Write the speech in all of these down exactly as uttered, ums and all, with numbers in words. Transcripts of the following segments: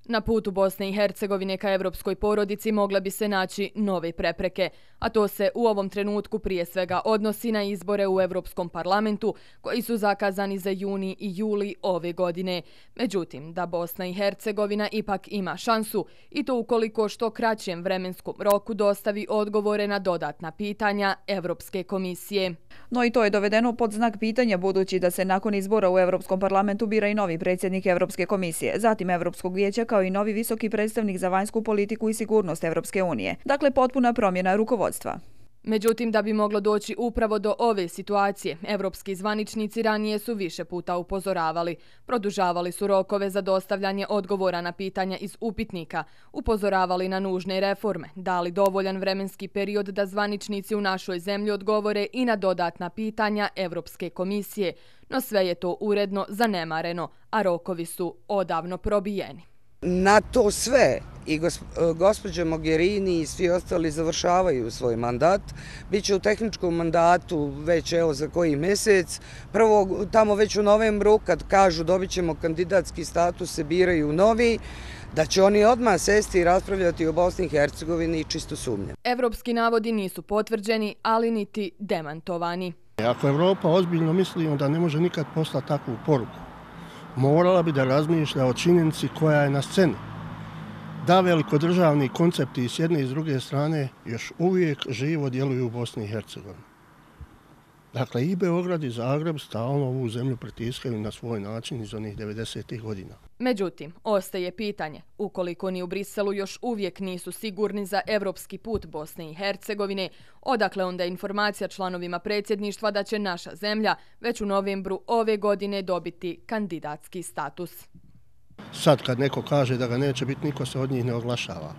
Na putu Bosne i Hercegovine ka evropskoj porodici mogle bi se naći nove prepreke, a to se u ovom trenutku prije svega odnosi na izbore u Evropskom parlamentu koji su zakazani za juni i juli ove godine. Međutim, da Bosna i Hercegovina ipak ima šansu i to ukoliko što kraćem vremenskom roku dostavi odgovore na dodatna pitanja Evropske komisije. No i to je dovedeno pod znak pitanja budući da se nakon izbora u Evropskom parlamentu bira i novi predsjednik Evropske komisije, zatim Evropskog vijeća kao i novi visoki predstavnik za vanjsku politiku i sigurnost Evropske unije. Dakle, potpuna promjena rukovodstva. Međutim, da bi moglo doći upravo do ove situacije, evropski zvaničnici ranije su više puta upozoravali. Produžavali su rokove za dostavljanje odgovora na pitanja iz upitnika, upozoravali na nužne reforme, dali dovoljan vremenski period da zvaničnici u našoj zemlji odgovore i na dodatna pitanja Evropske komisije, no sve je to uredno zanemareno, a rokovi su odavno probijeni. Na to sve i gospođa Mogherini i svi ostali završavaju svoj mandat. Biće u tehničkom mandatu već evo za koji mjesec. Prvo tamo već u novembru kad kažu dobit ćemo kandidatski status, se biraju novi, da će oni odmah sesti i raspravljati o Bosni i Hercegovini i čisto sumnjam. Evropski navodi nisu potvrđeni, ali niti demantovani. Ako Evropa ozbiljno misli, onda ne može nikad poslati takvu poruku. Morala bi da razmišlja o činjenici koja je na sceni. Da velikodržavni koncepti s jedne i s druge strane još uvijek živo djeluju u Bosni i Hercegovini. Dakle, i Beograd i Zagreb stalno ovu zemlju pritiskaju na svoj način iz onih devedesetih godina. Međutim, ostaje pitanje, ukoliko ni u Briselu još uvijek nisu sigurni za evropski put Bosne i Hercegovine, odakle onda informacija članovima predsjedništva da će naša zemlja već u novembru ove godine dobiti kandidatski status. Sad kad neko kaže da ga neće biti, niko se od njih ne oglašava.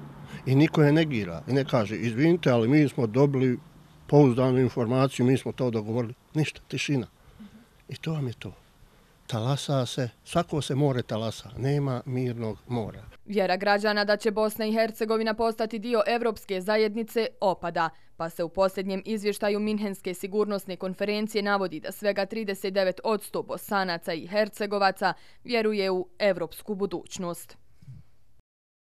I niko je negira i ne kaže, izvinite, ali mi smo dobili pouzdanu informaciju, mi smo to dogovorili. Ništa, tišina. I to vam je to. Talasa se, svako se more talasa, nema mirnog mora. Vjera građana da će Bosna i Hercegovina postati dio Evropske zajednice opada, pa se u posljednjem izvještaju Minhenske sigurnosne konferencije navodi da svega trideset devet posto Bosanaca i Hercegovaca vjeruje u evropsku budućnost.